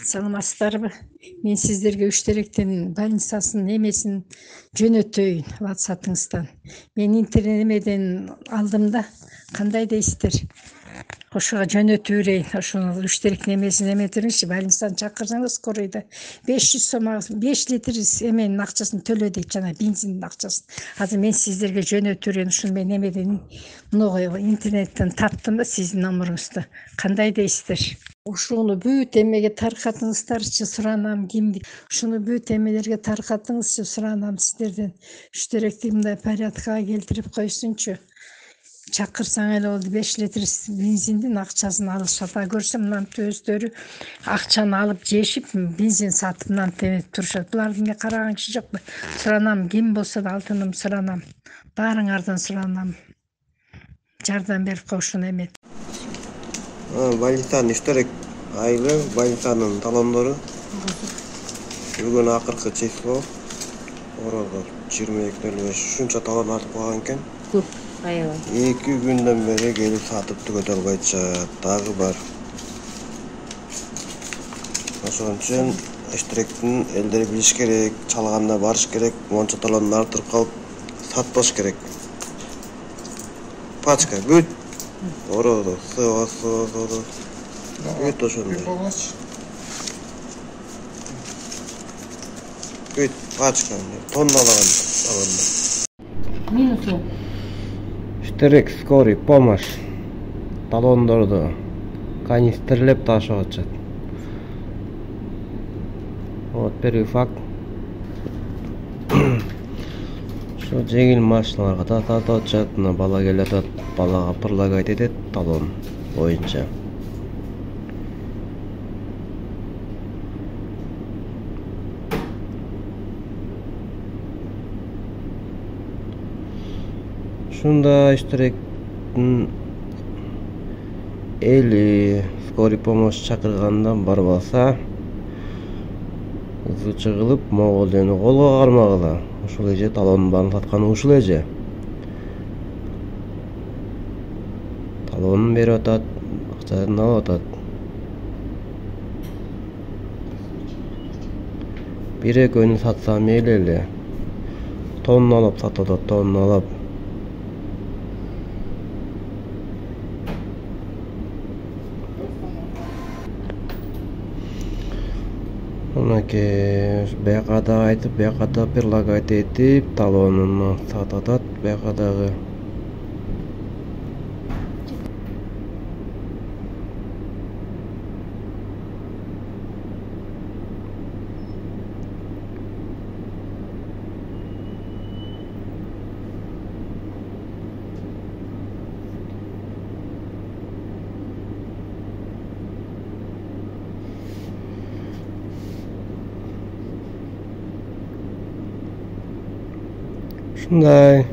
Саламатсыздарбы? Мен сиздерге үч теректин больницасынын эмесин жөнөтөйүн WhatsApp'ыңыздан. Мен интернемеден алдым да, кандай дейсиздер? Ошого жөнөтүп берейин. Ошону үч теректин эмесин эметиңизчи, больницаны чакырсаңыз скоройдо 500 сом 5 литр эменин акчасын төлө дейт, жана бензиндин акчасын. Азыр мен сиздерге жөнөтүп берейин. Ушуну мен эмеден мыногу интернеттен таптым да сиздин номеруңузду. Кандай дейсиздер? Ушуну бүт эмеге таркатыңыздарчы суранам, кимди ушуну бүт эмелерге таркатыңызчы суранам сиздерден. Үч теректи мындай порядкага келтирип койсунчу. Чакырсаң эле болду, 5 литр бензиндин акчасын алышат. А көрсөм мынантип өздөрү акчаны алып жешип, бензин сатып мынантип эметип турушат. Буларды мен караган киши жокпу. Суранам, ким болсо да алтыным суранам. Баарыңардан суранам. Жардам берип койушуну эмет. Больницанын үч терек айылы, больницанын талондору. Бүгүн акыркы число. Орого 22:05 ушунча талон артып калган экен. Көп аябай. 2 күндөн бери келип сатып түгөтө албай атышат. Дагы бар. Ошон үчүн үч теректин элдер билиш керек, чалганда барыш керек, монча талонду артырып калып сатпаш керек. Пачка бүт ороодо сыва. Бүт ошондой. Бүт пачка тонналаган талонду. Минусу. Терек скорый помощь талондорду канистрлеп ташып атышат. Вот первый факт. Ошо жеңил машиналарга тартып атышат. Мына бала келип атат, балага предлагать этет талон боюнча. Ушунда үч теректин эли скорый помощь чакырганда барбаса, ызы чыгылып, могул эми колго кармагыла. Ушул эже талондун баарын сатканы ушул эже. Талонун берип атат, акчасын алып атат. Бир экөөнү сатса мейли эле. Тонналап сатып атат, тонналап. Мынакей бияка да айтып, бияка да предлагать этип, талонун сатып атат, бияка дагы. Ушундай.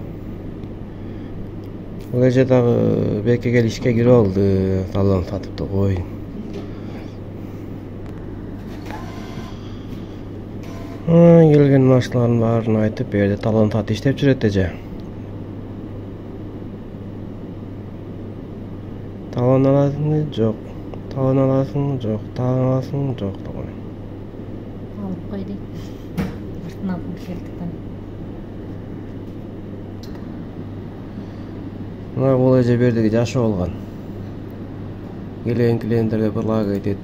Бул эже дагы бекке келип ишке кирип алды, талон сатыпты кой. Келген машиналардын баарын айтып, бу жерде талон сатып иштеп жүрөт эже. Талон аласыңбы? Жок. Талон аласыңбы? Жок. Талон аласыңбы? Жок. Алып кой дейт. Артына келтиктен. Мына бул эже бердиги жашоо болгон. Келген клиенттерге предлагать этет.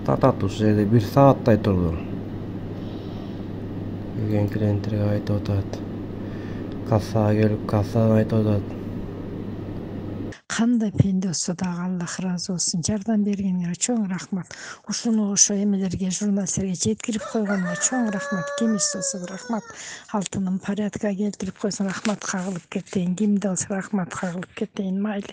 Сатат ушул жерде 1 сааттай турду. Келген клиенттерге айтып атат. Кассага келип, кассадан айтып атат. Кандай пенде болсо дагы Аллах ыраазы болсун. Жардам бергениңерге чоң рахмат. Ушуну ошо эмелерге, журналисттерге жеткирип койгонуңа чоң рахмат. Кимис болсо рахмат. Алтыным порядкага келтирип койсуң, рахмат кагылып кетейин. Кимде болсо рахмат кагылып кетейин, майли.